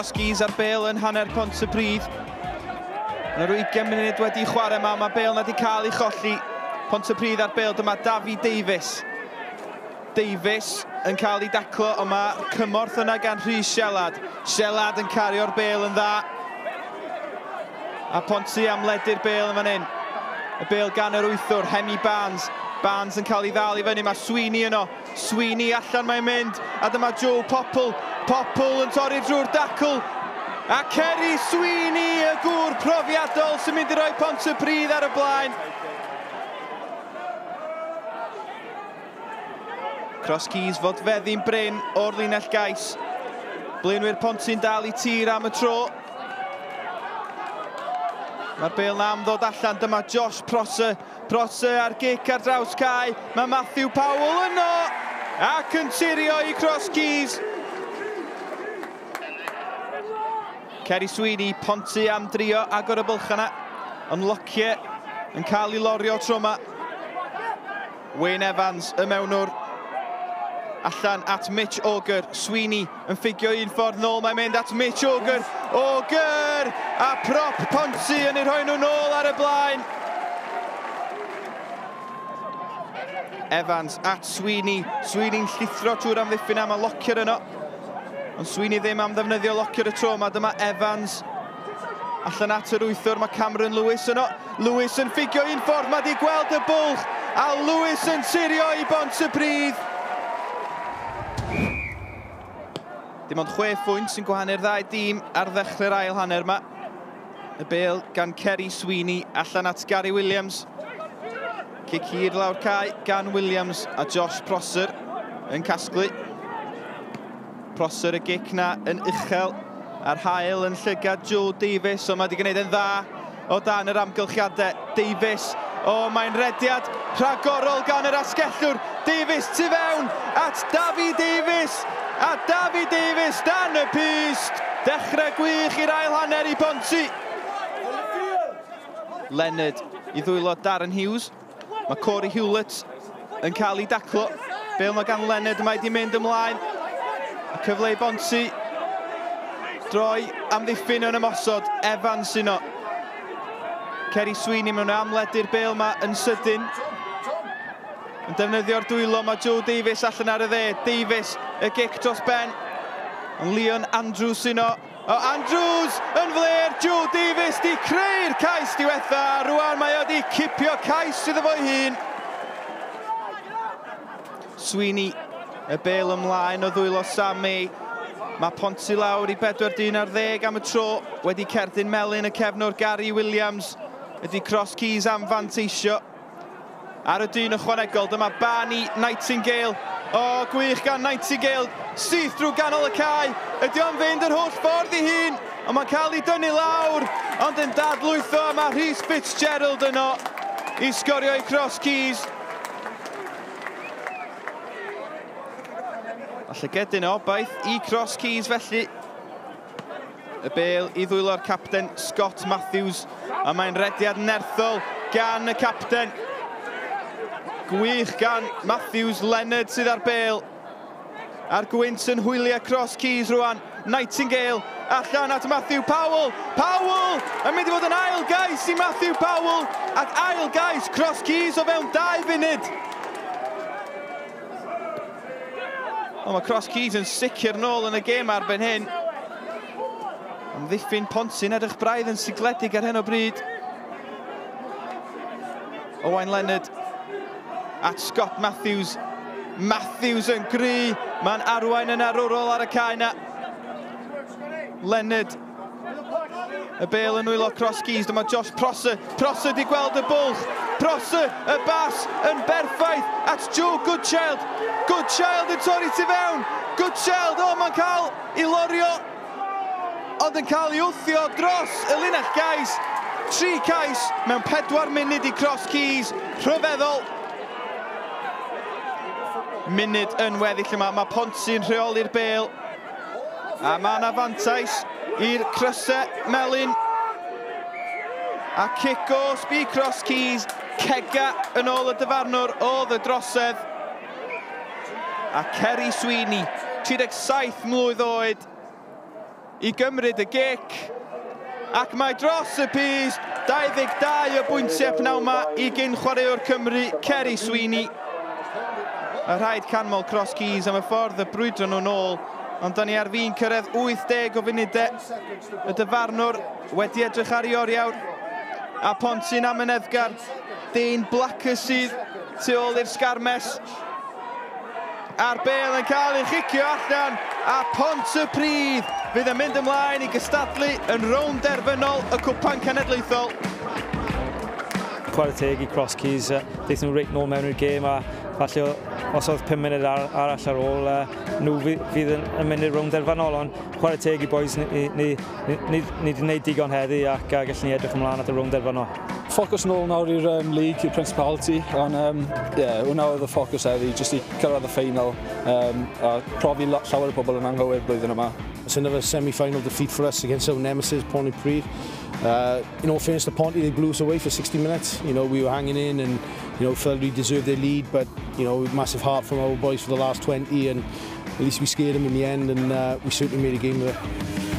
Cross Keys ar bêl yn hanner Pontypridd. Yna rhyw 20 munud wedi chwarae yma, mae bêl na wedi cael ei cholli. Pontypridd ar bêl, dyma Davi Davies. Davies yn cael ei daclo, ond mae cymorth yna gan Rhys Sielad. Sielad yn cario'r bêl yn dda. A Ponty am ledu'r bêl yn fan hyn. Y bêl gan yr wythwr, Hemi Barnes. Barnes yn cael ei ddal i fyny, mae Sweeney yno. Sweeney allan mae'n mynd, a dyma Joe Popple. Popple yn torri drwy'r dacl. A Kerry Sweeney, y gŵr profiadol sy'n mynd i roi Pontypridd ar y blaen. Cross Keys fod feddi'n brin o'r linell gais. Blaenwyr Ponty'n dal i tir am y tro. Mae'r bêl na am ddod allan, dyma Josh Prosser. Prosser ar gic ar draws cae. Mae Matthew Powell yno ac yn tirio i Cross Keys. Kerry Sweeney, Ponty am drio agor y bylch yna. Ond Lockyer yn cael ei lorio tro yma. Wayne Evans, y mewnwr, allan at Mitch Auger. Sweeney yn ffugio un ffordd nôl, mae'n mynd at Mitch Auger. Auger! A prop Ponty yn ei rhoi nhw nôl ar y blaen. Evans at Sweeney. Sweeney'n llithro trwy'r amddiffyn am y Lockyer yno. Ond Sweeney ddim am ddefnyddio Lockyer y tro yma. Dyma Evans allan at yr wythwr. Mae Cameron Lewis yno. Lewis yn ffugio un ffordd. Mae di gweld y bwlch. A Lewis yn tirio i Bontypridd. Dim ond 6 phwynt sy'n gwahanu'r ddau dîm ar ddechrau'r ail hanner yma. Y bêl gan Kerry Sweeney allan at Gary Williams. Cic hir lawr cae gan Williams a Josh Prosser yn casglu. Prosser y gic na yn uchel a'r hael yn llygad Joe Davies, ond mae wedi gwneud yn dda o dan yr amgylchiadau. Davies, o, mae'n rediad rhagorol gan yr asgellwr. Davies tu fewn at Davi Davies, a Davi Davies dan y pyst. Dechrau gwych i'r ail hanner i Ponty. Leonard i ddwylo Darren Hughes. Mae Corey Hewlett yn cael ei daclo. Bêl mae gan Leonard, mae wedi mynd ymlaen. A cyfle i Bonty droi amddiffyn yn ymosod. Evans yno. Kerry Sweeney mewn amledu'r bêl yma yn sydyn. Yn defnyddio'r dwylo, mae Joe Davies allan ar y dde. Davies, y gic dros ben. Ond Leon Andrews yno. O, Andrews yn fler. Joe Davies di creu'r cais diwetha. Rwan mae o di cipio cais iddo fo'i hun. Sweeney, y bêl ymlaen o ddwylo Sam May. Mae Ponty lawr i 4-10 am y tro. Wedi cerdyn melyn y cefnwr Gary Williams. Ydy Cross Keys am fanteisio. Ar y dyn ychwanegol, dyma Barney Nightingale. O, gwych gan Nightingale. Syth drwy ganol y cae. Ydy o'n fynd yr holl ffordd i hun. Ond mae'n cael ei dynnu lawr. Ond yn dadlwytho, a mae Rhys Fitzgerald yno i sgorio i Cross Keys. A llygedyn o obaith i Cross Keys felly. Y bêl i ddwylo'r capten Scott Matthews. A mae'n rediad nerthol gan y capten. Gwych gan Matthews. Leonard sydd ar bêl. A'r gwynt yn hwylio Cross Keys rwan. Nightingale allan at Matthew Powell. Powell yn mynd i fod yn ail gais i Matthew Powell. Ac ail gais Cross Keys o fewn 2 funud. O, mae Cross Keys yn sicr nôl yn y gêm arben hyn. Amddiffyn Ponty'n edrych braidd yn sigledig ar hyn o bryd. Owain Leonard at Scott Matthews. Matthews yn gry. Mae'n arwain yn arwrol ar y cae na. Leonard. Y bêl yn nwylo Cross Keys. Dyma Josh Prosser. Prosser di gweld y bwlch. Prosser, y bas yn berffaith at Joe Goodchild. Goodchild yn torri tu fewn. Goodchild, o, mae'n cael ei lorio, ond yn cael ei wthio dros y linell gais. 3 cais mewn 4 munud i Cross Keys. Rhyfeddol. Munud yn weddill yma. Mae Ponty'n rheoli'r bêl. A mae yna fantais i'r crysau melyn. A cic o sbi Cross Keys. Cega yn ôl y dyfarnwr oedd y drosedd. A Kerry Sweeney, 37 mlwydd oed, I gymryd y gic. Ac mae dros y pyst, 22 o bwyntiau pnawn 'ma i gyn chwaraewr Cymru, Ceri Sweeney. A rhaid canmol Cross Keys am y ffordd y brwydro nhw'n ôl. Ond da ni ar fin cyrraedd 80 o funudau. Y dyfarnwr wedi edrych ar ei oriawr. A Ponty'n amyneddgar. Dane Blacker sydd tu ôl i'r sgarmes. A'r bel yn cael ei chicio allan a Pontypridd fydd yn mynd ymlaen i gystadlu yn rownd derfynol y Cwpan Cenedlaethol. Chwarae teg i Cross Keys, ddeith nhw reit nôl mewn i'r gêm a falle os oedd 5 munud arall ar ôl, nhw fydd yn mynd i'r rownd derfynol, ond chwarae teg i boys, ni wedi gwneud digon heddi ac gallwn ni edrych ymlaen at y rownd derfynol. Ffocws nôl nawr i'r league, i'r Principality, ond yeah, hwnna oedd y ffocws heddi, jyst i cyrraedd y ffeinal a profi llawer o bobl yn anghywir blwyddyn yma. It's another semi-final defeat for us against our nemesis, Pontypridd. In all fairness to Ponty, they blew us away for 60 minutes. We were hanging in and felt we deserved their lead, but massive heart from our boys for the last 20, and at least we scared them in the end, and we certainly made a game of it.